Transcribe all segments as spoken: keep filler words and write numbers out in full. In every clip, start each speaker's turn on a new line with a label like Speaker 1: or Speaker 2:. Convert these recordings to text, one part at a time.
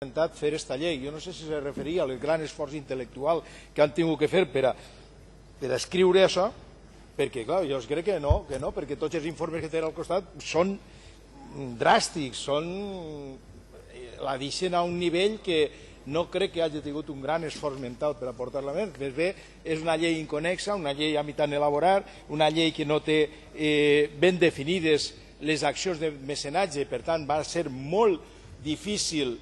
Speaker 1: intentat fer esta llei. Jo no sé si se referia al gran esforç intel·lectual que han tingut que fer per a, per a escriure això, perquè, clar, jo crec que no, que no, perquè tots els informes que tenen al costat són dràstics, són... la deixen a un nivell que no crec que hagi tingut un gran esforç mental per aportar-la més. Més bé, és una llei inconexa, una llei a mitjà elaborar, una llei que no té eh, ben definides les accions de mecenatge, per tant va ser molt difícil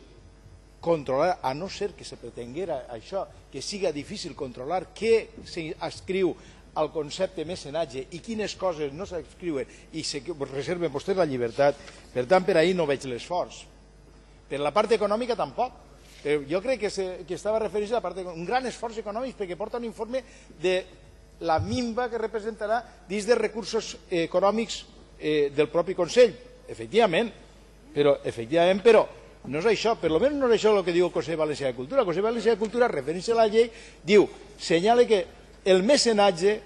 Speaker 1: controlar, a no ser que se pretenguera això, que siga difícil controlar què s'escriu al concepte mecenatge i quines coses no s'escriuen i se reserven vostès la llibertat. Per tant, per ahir no veig l'esforç. Per la part econòmica tampoc. Però jo crec que, se, que estava referint a la part econòmica. Un gran esforç econòmic perquè porta un informe de la minva que representarà dins de recursos econòmics eh, del propi Consell. Efectivament, però, efectivament, però no és això, per almenys no és això el que diu el Consell Valencià de Cultura. El Consell Valencià de Cultura, referint-se a la llei, diu, senyala que el mecenatge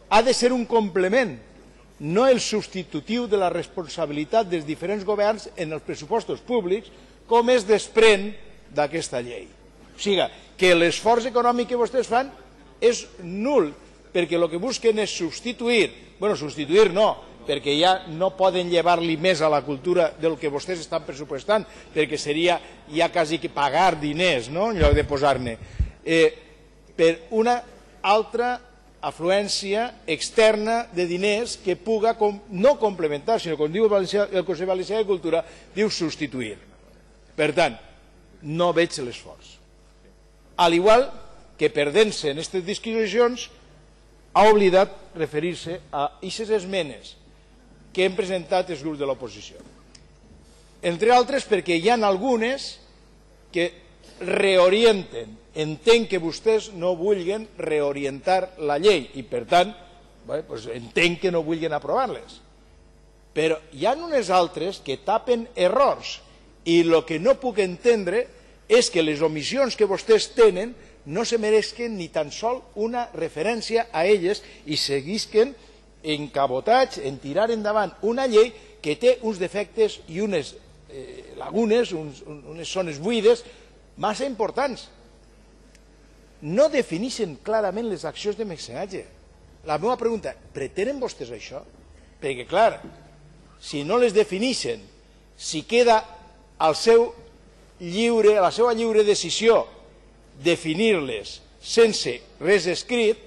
Speaker 1: ha de ser un complement, no el substitutiu de la responsabilitat dels diferents governs en els pressupostos públics, com es desprèn d'aquesta llei. O sigui, que l'esforç econòmic que vostès fan és nul, perquè el que busquen és substituir, bueno, substituir no, perquè ja no poden llevar-li més a la cultura del que vostès estan pressupostant, perquè seria ja quasi que pagar diners, no?, en lloc de posar-ne, eh, per una altra afluència externa de diners que puga com, no complementar, sinó, com diu el, Valencià, el Consell Valencià de Cultura, diu substituir. Per tant, no veig l'esforç. Al igual que perdent-se en aquestes disquisicions, ha oblidat referir-se a aquestes esmenes que hem presentat els grups de l'oposició. Entre altres perquè hi ha algunes que reorienten. Entenc que vostès no vulguin reorientar la llei i, per tant, bé, doncs entenc que no vulguin aprovar-les. Però hi ha unes altres que tapen errors i el que no puc entendre és que les omissions que vostès tenen no se mereixen ni tan sol una referència a elles i seguisquen encabotats en tirar endavant una llei que té uns defectes i unes eh, lagunes, uns, unes zones buides massa importants. No defineixen clarament les accions de mecenatge. La meva pregunta, pretenen vostès això? Perquè, clar, si no les defineixen, si queda al seu lliure, a la seva lliure decisió definir-les sense res escrit,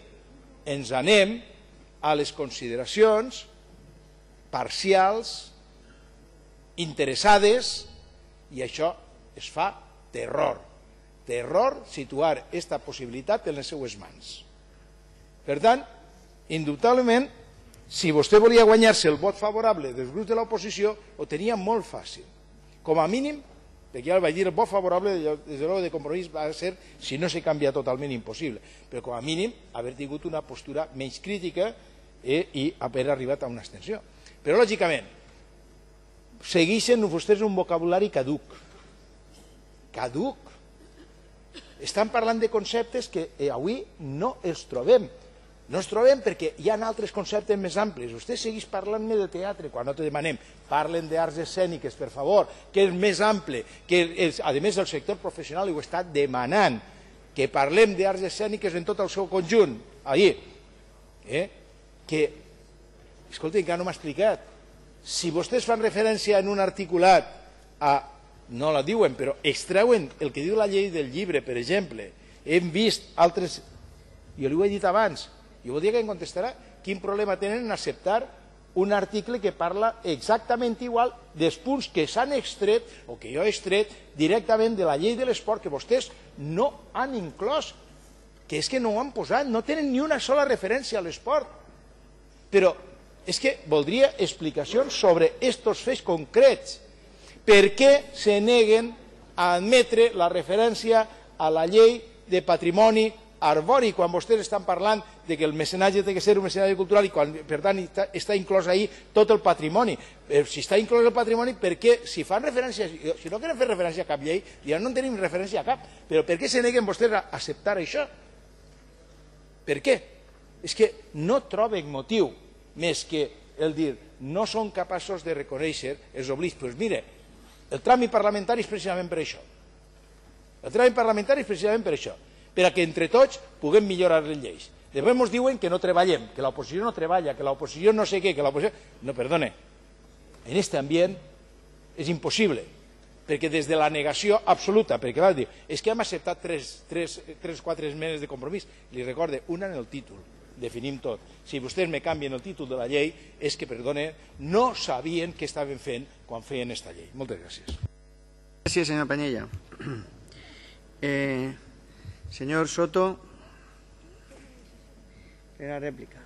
Speaker 1: ens anem a les consideracions parcials, interessades, i això es fa terror. Terror situar aquesta possibilitat en les seues mans. Per tant, indubtablement, si vostè volia guanyar-se el vot favorable dels grups de l'oposició, ho tenia molt fàcil. Com a mínim, perquè ja el vaig dir, el vot favorable des de l'hora de Compromís va ser, si no se canvia totalment, impossible. Però com a mínim, haver tingut una postura menys crítica eh, i haver arribat a una abstenció. Però, lògicament, segueixen vostès un vocabulari caduc. Caduc. Estan parlant de conceptes que avui no els trobem. No els trobem perquè hi ha altres conceptes més amplis. Vostè segueix parlant-me de teatre, quan no te demanem. Parlen d'arts escèniques, per favor, que és més ample, que a més el sector professional ho està demanant, que parlem d'arts escèniques en tot el seu conjunt. Ahir, eh? que, escolta, encara no m'ha explicat. Si vostès fan referència en un articulat a... no la diuen, però extreuen el que diu la llei del llibre, per exemple. Hem vist altres... Jo li ho he dit abans. Jo voldria que em contestarà quin problema tenen en acceptar un article que parla exactament igual dels punts que s'han extret, o que jo he extret, directament de la llei de l'esport, que vostès no han inclòs, que és que no ho han posat, no tenen ni una sola referència a l'esport. Però és que voldria explicacions sobre aquests fets concrets. Per què se neguen a admetre la referència a la llei de patrimoni arbori quan vostès estan parlant de que el mecenatge té que ser un mecenatge cultural i quan, per tant, està inclòs ahí tot el patrimoni. Si està inclòs el patrimoni, per què, si fan referència, si no quieren fer referència a cap llei, ja no en tenim referència a cap, però per què se neguen vostès a acceptar això? Per què? És que no troben motiu més que el dir no són capaços de reconèixer els oblits. Doncs mire, el tràmit parlamentari és precisament per això. El tràmit parlamentari és precisament per això, per a que entre tots puguem millorar les lleis. Després ens diuen que no treballem, que l'oposició no treballa, que l'oposició no sé què, que l'oposició... No, perdone, en aquest ambient és impossible, perquè des de la negació absoluta, perquè clar, diu, és que hem acceptat tres o quatre esmenes de compromís, li recorde, una en el títol, definim tot. Si vostès me canvien el títol de la llei, és que, perdone, no sabien què estaven fent quan feien aquesta llei. Moltes gràcies.
Speaker 2: Gràcies, senyor Penella. Eh, senyor Soto, era rèplica.